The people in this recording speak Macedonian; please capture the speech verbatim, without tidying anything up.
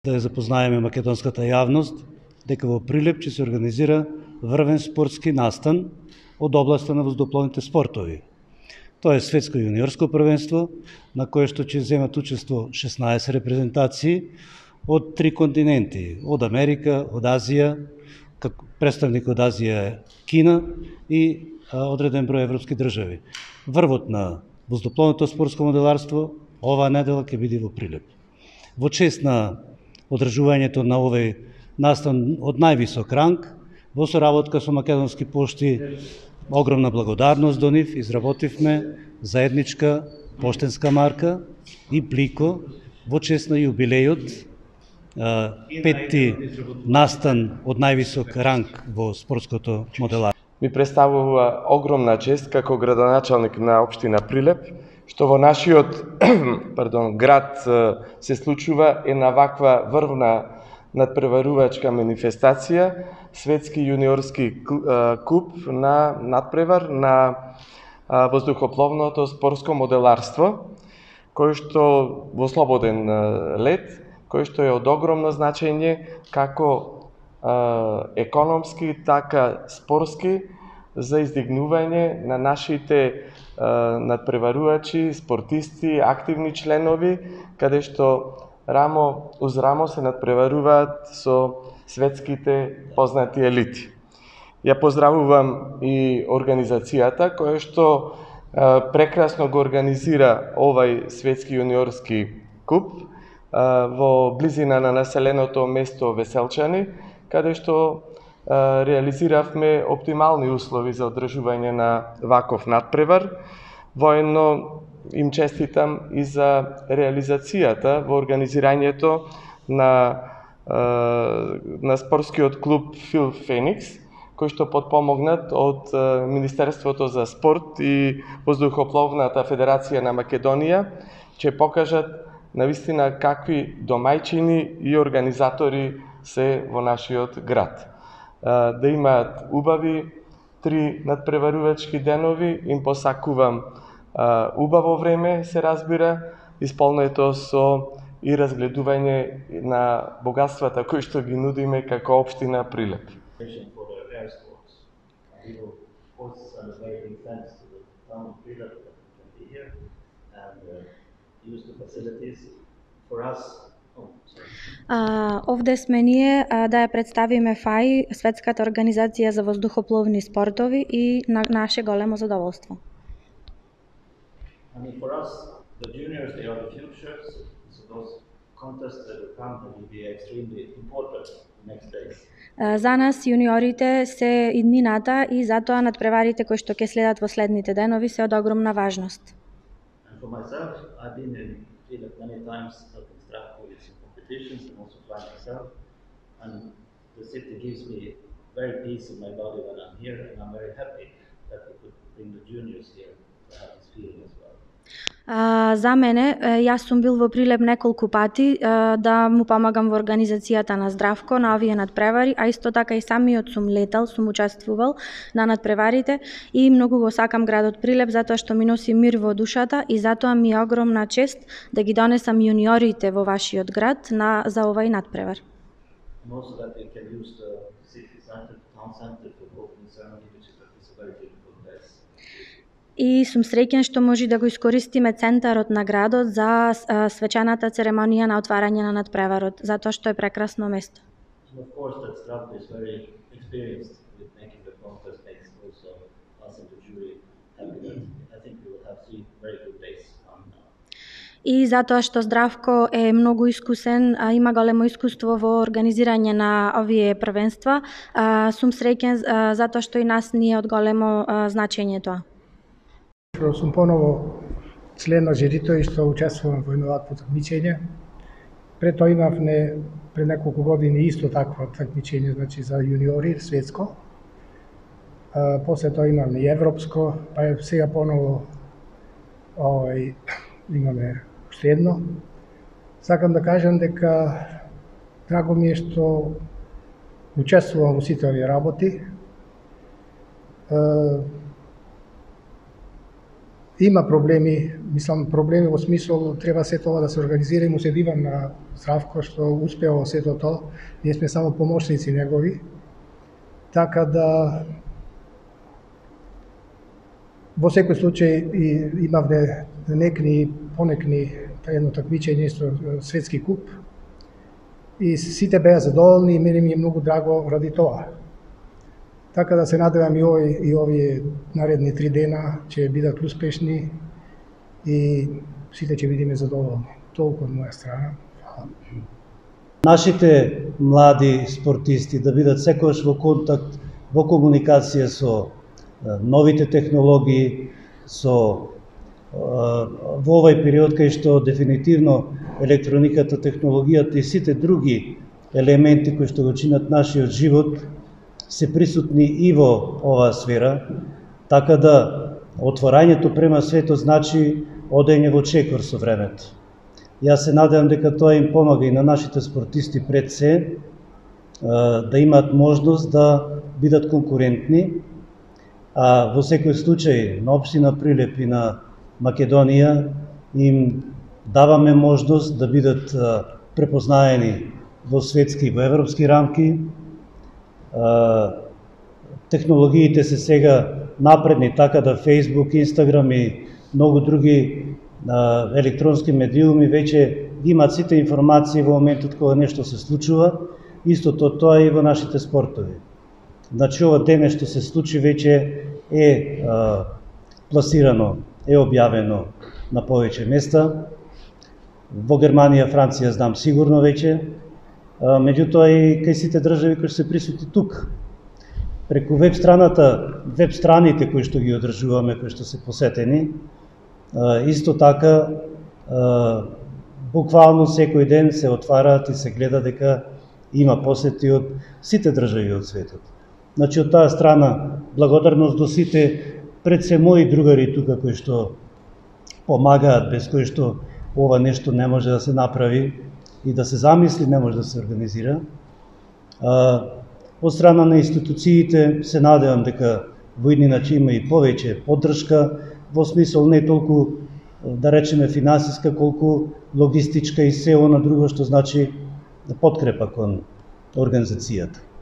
Да ја запознаеме македонската јавност дека во Прилеп ќе се организира врвен спортски настан од областа на воздухопловните спортови. Тоа е светско јуниорско првенство на кое што ќе земат учество шеснаесет репрезентации од три континенти, од Америка, од Азија, како представник од Азија е Кина и а, одреден број европски држави. Врвот на воздухопловното спортско моделарство оваа недела ќе биде во Прилеп. Во чест на одржувањето на овој настан од највисок ранг, во соработка со Македонски пошти, огромна благодарност до нив, изработивме заедничка поштенска марка и плико во чест на јубилејот, петти настан од највисок ранг во спортското моделарство. Ми представува огромна чест како градоначалник на општина Прилеп, што во нашиот пардон, град се случува една ваква врвна надпреварувачка манифестација, светски јуниорски куп на надпревар на воздухопловното спортско моделарство, кој што во слободен лет, кој што е од огромно значење како економски, така спортски, за издигнување на нашите надпреварувачи, спортисти, активни членови, каде што рамо уз рамо се надпреваруваат со светските познати елити. Ја поздравувам и организацијата која што прекрасно го организира овај светски јуниорски куп во близина на населеното место Веселчани, каде што реализиравме оптимални услови за одржување на ваков надпревар. Воедно им честитам и за реализацијата во организирањето на, на спортскиот клуб Фил Феникс, кој што подпомогнат од Министерството за спорт и Воздухопловната федерација на Македонија, ќе покажат навистина какви домајчини и организатори се во нашиот град. Да имаат убави три надпреварувачки денови, им посакувам убаво време, се разбира, исполнето со и разгледување на богатствата кои што ги нудиме како општина Прилеп. Uh, овде сме ние uh, да ја представиме ФАИ, Светската организација за воздухопловни спортови, и на наше големо задоволство. I mean, for us, the juniors, they are the future, so those contests that will come will be extremely important next days. Uh, за нас јуниорите се иднината и затоа надпреварите кои што ќе следат во следните денови се од огромна важност. And for myself, I've been in Prилep many times helping Zdravko with some competitions and also flying myself. And the city gives me very peace in my body when I'm here, and I'm very happy that we could bring the juniors here to have this feeling as well. Uh, за мене, јас сум бил во Прилеп неколку пати uh, да му помагам во организацијата на Здравко на овие надпревари, а исто така и самиот сум летал, сум учествувал на надпреварите и многу го сакам градот Прилеп затоа што ми носи мир во душата и затоа ми е огромна чест да ги донесам јуниорите во вашиот град на за овај надпревар. И сум среќен што може да го искористиме центарот на градот за свечаната церемонија на отварање на надпреварот, затоа што е прекрасно место. И затоа што Здравко е многу искусен, а има големо искуство во организирање на овие првенства, сум среќен затоа што и нас ни е од големо значење тоа. Што сум поново член на жирито и што учествувам во едно вакво такмичење. Пред тоа имав не пред неколку години исто такво такмичење, значи за јуниори светско. А, после тоа имаме и европско, па сега поново овај имаме уште едно. Сакам да кажам дека драго ми е што учествувам во сите овие работи. А, Има проблеми, мислам проблеми во смисол треба се тоа да се организира и му се дивам на Здравко што успеа во сето тоа. Ние сме само помошници негови. Така да во секој случај и имавме некни понекни едно такмичење со светски куп и сите беа задоволни и мене ми е многу драго ради тоа. Така да се надевам и овој и овие наредни три дена ќе бидат успешни и сите ќе бидеме задоволни. Толку од моја страна. Нашите млади спортисти да бидат секогаш во контакт, во комуникација со новите технологии, со во овој период кај што дефинитивно електрониката, технологијата и сите други елементи кои што го чинат нашиот живот се присутни и во оваа сфера, така да отворањето према светот значи одење во чекор со времето. Јас се надевам дека тоа им помага и на нашите спортисти пред се, да имаат можност да бидат конкурентни, а во секој случај на општина Прилеп и на Македонија им даваме можност да бидат препознаени во светски и во европски рамки. Технологиите се сега напредни, така да Facebook, Instagram и многу други електронски медиуми веќе имаат сите информации во моментот кога нешто се случува. Истото тоа и во нашите спортови. Значи ова дене што се случи веќе е а, пласирано, е објавено на повеќе места. Во Германија, Франција знам сигурно веќе, а, меѓутоа и кај сите држави кои се присутни тук. Преку веб страната, веб страните кои што ги одржуваме, кои што се посетени, а, исто така а, буквално секој ден се отвараат и се гледа дека има посети од сите држави од светот. Значи, од таа страна, благодарност до сите, пред се мои другари тука кои што помагаат, без кои што ова нешто не може да се направи и да се замисли, не може да се организира. А, од страна на институциите се надевам дека во иднина ќе има и повеќе поддршка, во смисол не толку, да речеме, финансиска, колку логистичка и се она друго што значи подкрепа кон организацијата.